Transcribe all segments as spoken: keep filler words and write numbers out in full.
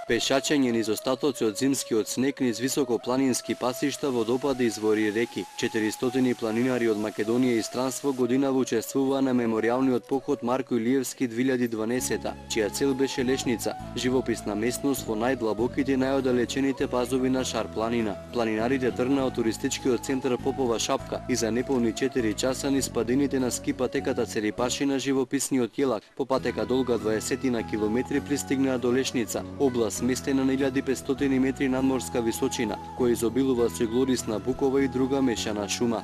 Пешачење низ остатоци од зимскиот снег низ високопланински пасишта, водопади, извори и реки. четиристотини планинари од Македонија и странство годинава учествуваа на меморијалниот поход Марко Илиевски две илјади и дванаесета, чија цел беше Лешница, живописна местност во најдлабоките и најоддалечените пазови на Шар планина. Планинарите тргнаа од туристичкиот центар Попова шапка и за неполни четири часа низ падините на ски патеката Церипаши на живописниот Јелак, по патека долга дваесет на километри пристигнаа до Лешница, област сместена на илјада и петстотини метри надморска височина, која изобилува со глорисна букова и друга мешана шума.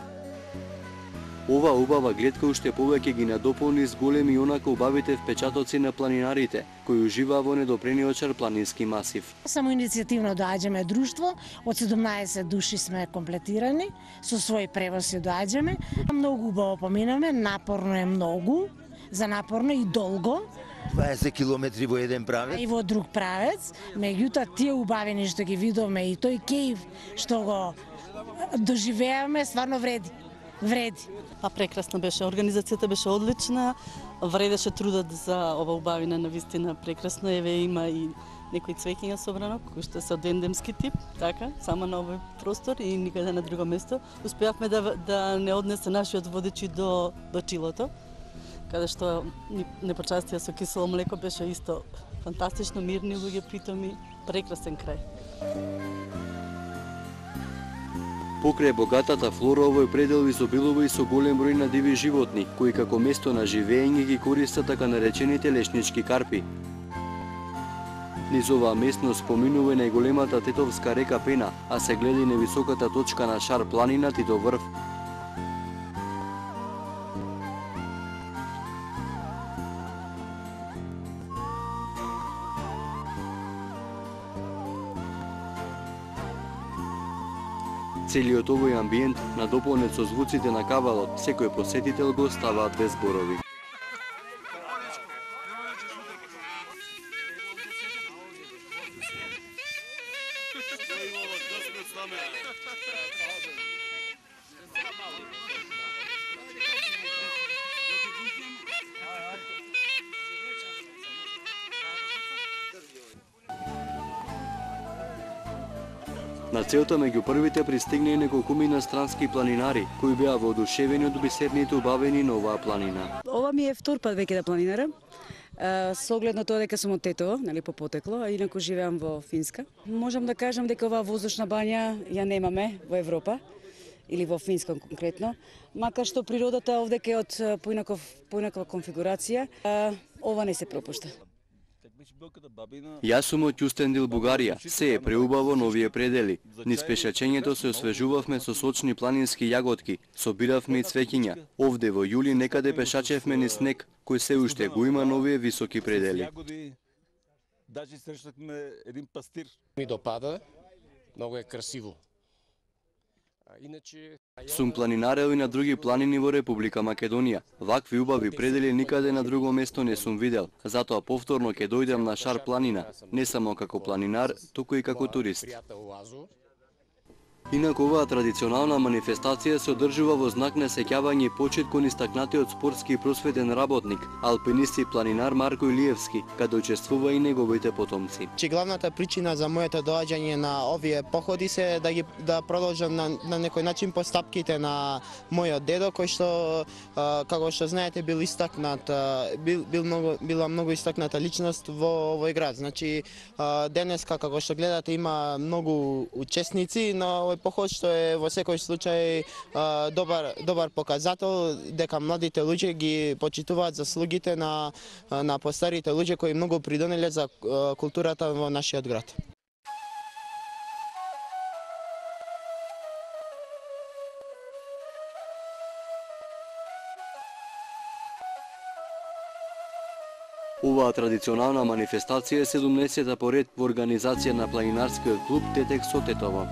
Ова убава гледка уште повеќе ги надополни с големи и онака убавите впечатоци на планинарите, кои уживаа во недопрениот Шар планински масив. Само иницијативно доаѓаме друштво, од седумнаесет души сме комплетирани, со свој превоз се доаѓаме. Многу убаво поминаме, напорно е многу, за напорно и долго. дваесет километри во еден правец. И во друг правец, меѓутоа тие убавени што ги видовме и тој кејф што го доживеаме, стварно вреди. Вреди. А прекрасно беше, организацијата беше одлична, вредеше трудот за ова убавина, навистина прекрасно, еве има и некои цвеќиња собрано, кои што се од ендемски тип, така, само на овој простор и никаде на друго место. Успеавме да, да не однесе нашиот водечи до, до Чилото, каде што не почастија со кисело млеко, беше исто фантастично, мирни луѓе, притоми, прекрасен крај. Покрај богатата флора, овој предел изобилува и со голем број на диви животни, кои како место на живење ги користат така наречените лешнички карпи. Низ оваа местност поминува и најголемата тетовска река Пена, а се гледа и невисоката точка на Шар планина Титов врв. Целиот овој амбиент, надополнет со звуците на кавалот, секој посетител го оставаат без зборови. На целта меѓу првите пристигна и неколкумина странски планинари, кои беа воодушевени од бисерните убавени на оваа планина. Ова ми е втор пат веќе да планинарам. Со оглед на тоа дека сум од Тетово, нели по потекло, а инаку живеам во Финска. Можам да кажам дека оваа воздушна бања ја немаме во Европа или во Финска конкретно, макар што природата овдека е од поинаков поинаква конфигурација, ова не се пропушта. Јас сум од Кюстендил, Бугарија. Се е преубаво на овие предели. Низ пешачењето се освежувавме со сочни планински јаготки, собиравме и цвеќиња. Овде во јули некаде пешачевме низ снег, кој се уште го има на овие високи предели. Ми допада, многу е красиво. Сум планинарел и на други планини во Република Македонија. Вакви убави предели никаде на друго место не сум видел, затоа повторно ќе дојдем на Шар планина, не само како планинар, туку и како турист. Инаку оваа традиционална манифестација се одржува во знак на сеќавање и почит кон истакнатиот спортски и просветен работник, алпинист и планинар Марко Илиевски, каде учествува и неговите потомци. Че главната причина за моето доаѓање на овие походи се да ги да продолжам на, на некој начин постапките на мојот дедо, кој што како што знаете бил истакнат, бил, бил многу, била многу истакната личност во овој град. Значи денеска како што гледате има многу учесници на овој поход, што е во секој случај добар добар показател дека младите луѓе ги почитуваат заслугите на на постарите луѓе кои многу придонеле за културата во нашиот град. Оваа традиционална манифестација е седумнаесета поред во организација на планинарскиот клуб Тетек со Тетово.